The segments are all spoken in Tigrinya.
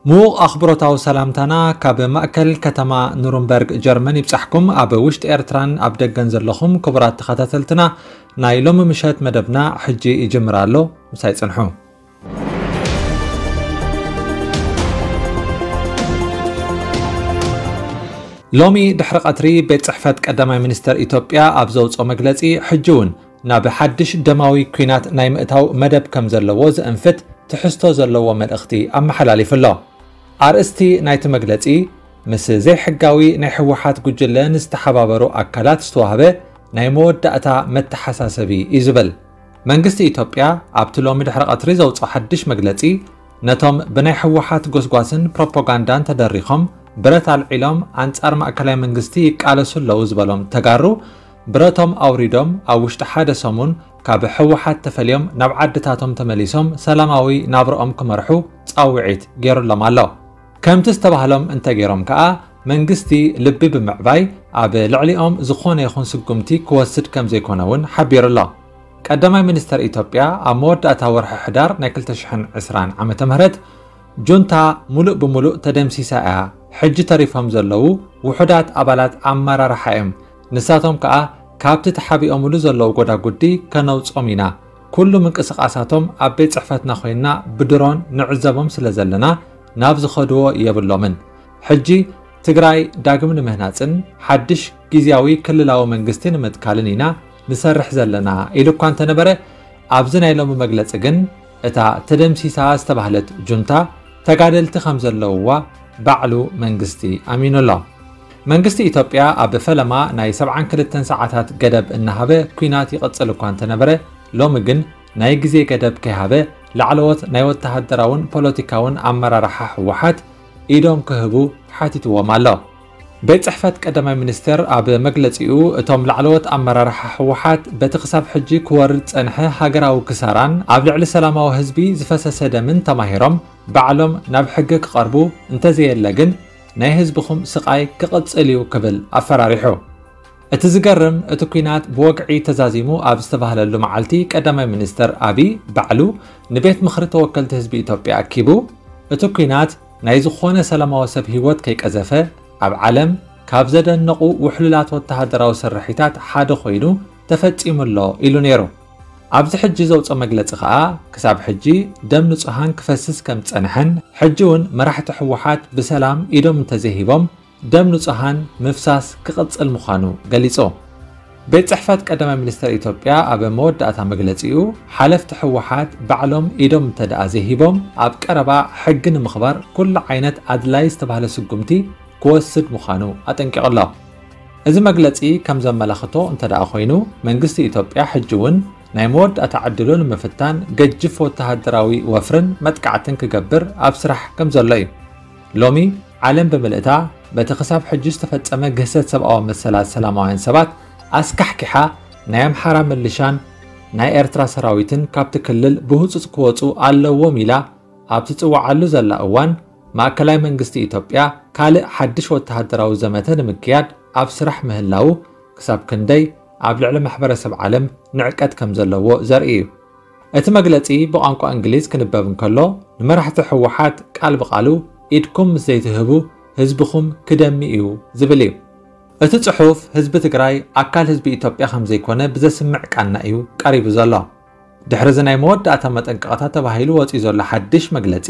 ምዉቕ ኣኽብሮታዊ ሰላምታና ካብ ማእከል ከተማ ኑርንበርግ ጀርመን ይብጻሕኩም። ኣብ ውሽጢ ኤርትራን ኣብ ደገን ዘለኹም ክቡራት ተኸታተልትና፣ ናይ ሎሚ ምሸት መደብና ሕጂ ይጅምር ኣሎ። ምሳይ ጽንሑ። ሎሚ ድሕሪ ቀትሪ ቤት ጽሕፈት ቀዳማይ ሚኒስተር ኢትዮጵያ ኣብ ዘውጽኦ መግለጺ፣ ሕጂ እውን ናብ ሓድሽ ደማዊ ኲናት ናይ ምእታው መደብ ከም ዘለዎ ዘእንፍት ትሕዝቶ ዘለዎ መልእኽቲ ኣመሓላሊፉ ኣሎ። ኣርእስቲ ናይቲ መግለጺ፣ ምስ ዘይሕጋዊ ናይ ህወሓት ጉጅለ ንዝተሓባበሩ ኣካላት ዝተዋህበ ናይ መወዳእታ መተሓሳሰቢ እዩ ዝብል። መንግስቲ ኢትዮጵያ ኣብቲ ሎሚ ድሕሪ ቀትሪ ዘውፅኦ ሓድሽ መግለጺ፣ ነቶም ብናይ ህወሓት ጎስጓስን ፕሮፓጋንዳን ተደሪኾም ብረት ኣልዒሎም ኣንጻር ማእከላይ መንግስቲ ይቃለሱ ኣለዉ ዝበሎም ተጋሩ፣ ብረቶም ኣውሪዶም ኣብ ውሽጢ ሓደ ሰሙን ካብ ህወሓት ተፈልዮም ናብ ዓድታቶም ተመሊሶም ሰላማዊ ናብርኦም ክመርሑ ጻውዒት ገይሩሎም ኣሎ። ከምቲ ዝተባህሎም እንተገይሮም ከኣ፣ መንግስቲ ልቢ ብምዕባይ ኣብ ልዕሊኦም ዝኾነ ይኹን ስጉምቲ ክወስድ ከም ዘይኮነ እውን ሓቢሩ ኣሎ። ቀዳማይ ሚኒስተር ኢትዮጵያ ኣብ መወዳእታ ወርሒ ሕዳር ናይ ክልተ ሽሕን ዕስራን ዓመተ ምህረት፣ ጁንታ ሙሉእ ብሙሉእ ተደምሲሳ እያ፣ ሕጂ ተሪፎም ዘለዉ ውሑዳት ኣባላት ኣመራርሓ እዮም፣ ንሳቶም ከኣ ካብቲ ተሓቢኦምሉ ዘለዉ ጎዳጉዲ ከነውጾም ኢና፣ ኩሉ ምንቅስቓሳቶም ኣብ ቤት ጽሕፈትና ኮይንና ብድሮን ንዕዘቦም ስለ ዘለና ናብ ዝኸድዎ የብሎምን። ሕጂ ትግራይ ዳግም ንምህናጽን ሓድሽ ግዝያዊ ክልላዊ መንግስቲ ንምትካልን ኢና ንሰርሕ ዘለና ኢሉ እኳ እንተነበረ፣ ኣብዚ ናይ ሎሚ መግለጺ ግን እታ ተደምሲሳ ዝተባህለት ጁንታ ተጋደልቲ ከም ዘለውዋ ባዕሉ መንግስቲ ኣሚኑ ኣሎ። መንግስቲ ኢትዮጵያ ኣብ ፈለማ ናይ ሰብዓን ክልተን ሰዓታት ገደብ እናሃበ ኲናት ይቕጽል እኳ እንተነበረ፣ ሎሚ ግን ናይ ግዜ ገደብ ከይሃበ ላዕለዎት ናይ ወተሃደራውን ፖለቲካውን ኣመራርሓ ህወሓት ኢዶም ክህቡ ሓቲትዎም ኣሎ። ቤት ጽሕፈት ቀዳማይ ሚኒስትር ኣብ መግለጺኡ፣ እቶም ላዕለዎት ኣመራርሓ ህወሓት በቲ ክሳብ ሕጂ ክወርድ ጸንሐ ሃገራዊ ክሳራን ኣብ ልዕሊ ሰላማዊ ህዝቢ ዝፈሰሰ ደምን ተማሂሮም ባዕሎም ናብ ሕጊ ክቐርቡ፣ እንተዘየለ ግን ናይ ህዝብኹም ስቓይ ክቕጽል እዩ ክብል ኣፈራሪሑ። እቲ ዝገርም፣ እቲ ኲናት ብወግዒ ተዛዚሙ ኣብ ዝተባህለሉ መዓልቲ ቀዳማይ ሚኒስትር ኣብይ ባዕሉ ንቤት ምኽሪ ተወከልቲ ህዝቢ ኢትዮጵያ ኣኪቡ፣ እቲ ኲናት ናይ ዝኾነ ሰላማዊ ሰብ ህይወት ከይቀዘፈ፣ ኣብ ዓለም ካብ ዘደነቑ ውሕሉላት ወተሃደራዊ ስርሒታት ሓደ ኮይኑ ተፈጺሙ ኣሎ ኢሉ ነይሩ። ኣብዚ ሕጂ ዘውፅኦ መግለጺ ከኣ፣ ክሳብ ሕጂ ደም ንጹሃን ክፈስስ ከም ዝጸንሐን፣ ሕጂ እውን መራሕቲ ህወሓት ብሰላም ኢዶም እንተዘይሂቦም፣ ደም ንጹሃን ምፍሳስ ክቕጽል ምዃኑ ገሊጹ። ቤት ጽሕፈት ቀዳማይ ሚኒስተር ኢትዮጵያ ኣብ መወዳእታ መግለጺኡ፣ ሓለፍቲ ህወሓት ባዕሎም ኢዶም እንተደኣ ዘይሂቦም፣ ኣብ ቀረባ ሕጊ ንምኽባር ኩሉ ዓይነት ኣድላይ ዝተባህለ ስጉምቲ ክወስድ ምዃኑ ኣጠንቂቑ ኣሎ። እዚ መግለጺ ከም ዘመላኽቶ እንተደኣ ኮይኑ፣ መንግስቲ ኢትዮጵያ ሕጂ እውን ናይ መወዳእታ ዕድሉ ንምፍታን ገጅፍ ወተሃደራዊ ወፍርን መጥቃዕትን ክገብር ኣብ ስራሕ ከም ዘሎ እዩ። ሎሚ ዓለም ብምልእታ በቲ ክሳብ ሕጂ ዝተፈጸመ ግህሰት ሰብኣዊ መሰላት ሰላማውያን ሰባት ኣስካሕኪሓ፣ ናይ ኣምሓራ ምልሻን ናይ ኤርትራ ሰራዊትን ካብቲ ክልል ብህጹጽ ክወጹ ኣለዎም ኢላ ኣብ ትጽውዓሉ ዘላ እዋን፣ ማእከላይ መንግስቲ ኢትዮጵያ ካልእ ሓድሽ ወተሃደራዊ ዘመተ ንምክያድ ኣብ ስራሕ ምህላዉ ክሳብ ክንደይ ኣብ ልዕሊ ማሕበረሰብ ዓለም ንዕቀት ከም ዘለዎ ዘርኢ እዩ። እቲ መግለጺ ብቋንቋ እንግሊዝ ክንበብ እንከሎ፣ ንመራሕቲ ህወሓት ቃል ብቓሉ፣ "ኢድኩም ምስ ዘይትህቡ ህዝብኹም ክደሚ እዩ" ዝብል እዩ። እቲ ጽሑፍ፣ ህዝቢ ትግራይ ኣካል ህዝቢ ኢትዮጵያ ከም ዘይኮነ ብዘስምዕ ቃና እዩ ቀሪቡ ዘሎ። ድሕሪ እዚ ናይ መወዳእታ መጠንቀቕታ ተባሂሉ ወጺኡ ዘሎ ሓድሽ መግለጺ፣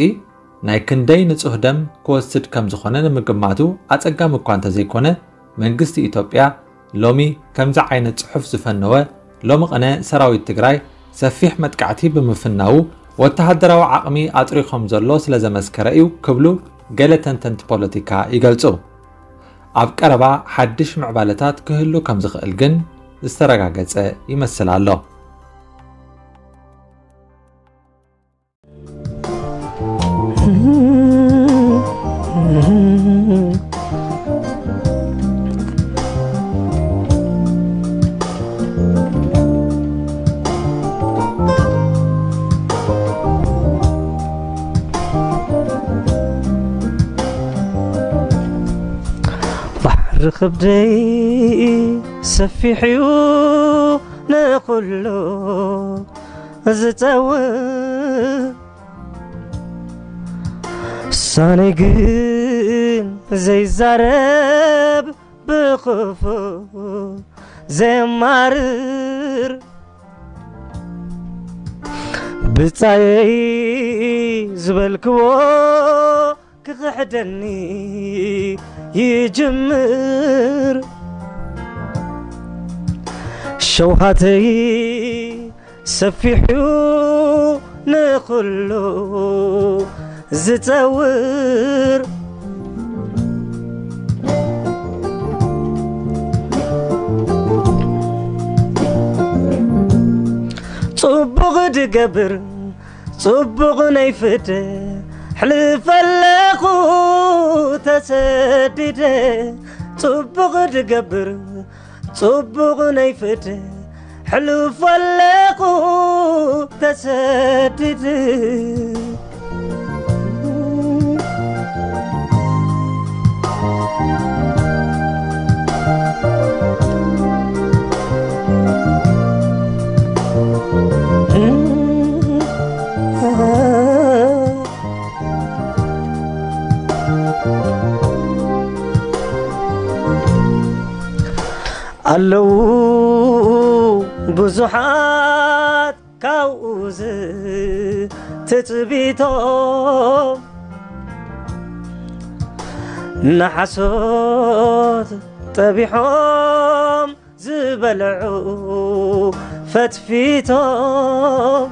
ናይ ክንደይ ንጹህ ደም ክወስድ ከም ዝኾነ ንምግማቱ ኣጸጋሚ እኳ እንተዘይኮነ፣ መንግስቲ ኢትዮጵያ ሎሚ ከምዚ ዓይነት ጽሑፍ ዝፈነወ፣ ሎሚ ቅነ ሰራዊት ትግራይ ሰፊሕ መጥቃዕቲ ብምፍናዉ፣ ወተሃደራዊ ዓቕሚ ኣጥሪዩ ከም ዘሎ ስለ ዘመስከረ እዩ ክብሉ ገለ ተንተንቲ ፖለቲካ ይገልጹ። ኣብ ቀረባ ሓድሽ ምዕባለታት ክህሉ ከም ዝኽእል ግን ዝተረጋገጸ ይመስል ኣሎ። ርኽብደይ ሰፊሕዩ ንኹሉ ዝጸውር፣ ሳነይ ግን ዘይዛረብ ብኽፉእ ዘየማርር። ብጻየይ ዝበልክዎ ክኽሕደኒ ይጅምር። ሸውሃተይ ሰፊሑ ንኹሉ ዝጸውር፣ ጽቡቕ ድገብር ጽቡቕ ናይ ፍደ፣ ሕልፍ ኣለኹ ተሰዲደ። ጽቡቕ ድገብር ጽቡቕ ናይ ፍደ፣ ሕልፍ ኣለኹ ተሰዲደ። ኣለዉ ብዙሓት ካብኡ ዝትጽቢቶም፣ ንሓሶት ጠቢሖም ዝበልዑ ፈትፊቶም፣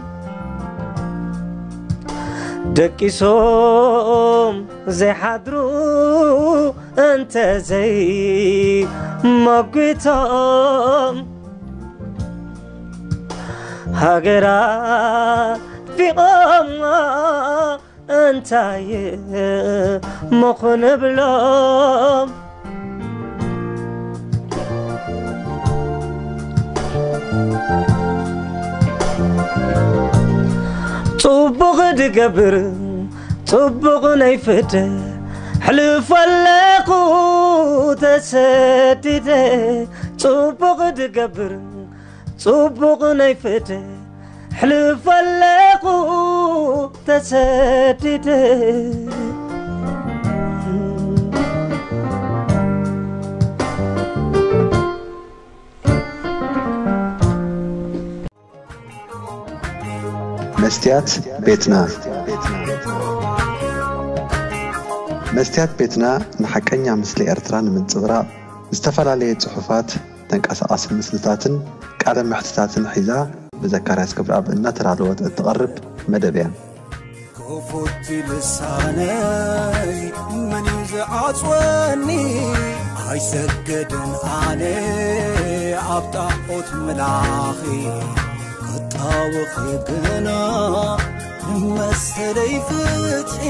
ደቂሶም ዘይሓድሩ እንተዘይ መጒቶም፣ ሃገር ኣጥፊቖማ እንታይ እሞ ክንብሎም? ጽቡቕ ድገብር ጽቡቕ ናይ ፍደ፣ ሕልፍ ኣለኹ ተሰዲደ። ጽቡቕ ድገብር ጽቡቕ ናይ ፍደ፣ ሕልፍ ኣለኹ ተሰዲደ። መስትያት ቤትና። መስትያት ቤትና ንሓቀኛ ምስሊ ኤርትራ ንምንጽብራቕ ዝተፈላለየ ጽሑፋት፣ ተንቀሳቓሲ ምስልታትን ቃለ መሕትታትን ሒዛ ብዘካርያስ ገብረኣብ እናተዳለወት እትቐርብ መደብ እያ። ክፉት ልሳነይ መን እዩ ዝዓጽወኒ? ኣይሰግድን ኣነ ኣብ ጣዖት ምላኺ፣ ክጣወኺ ግና መሰለይ ፍትሒ።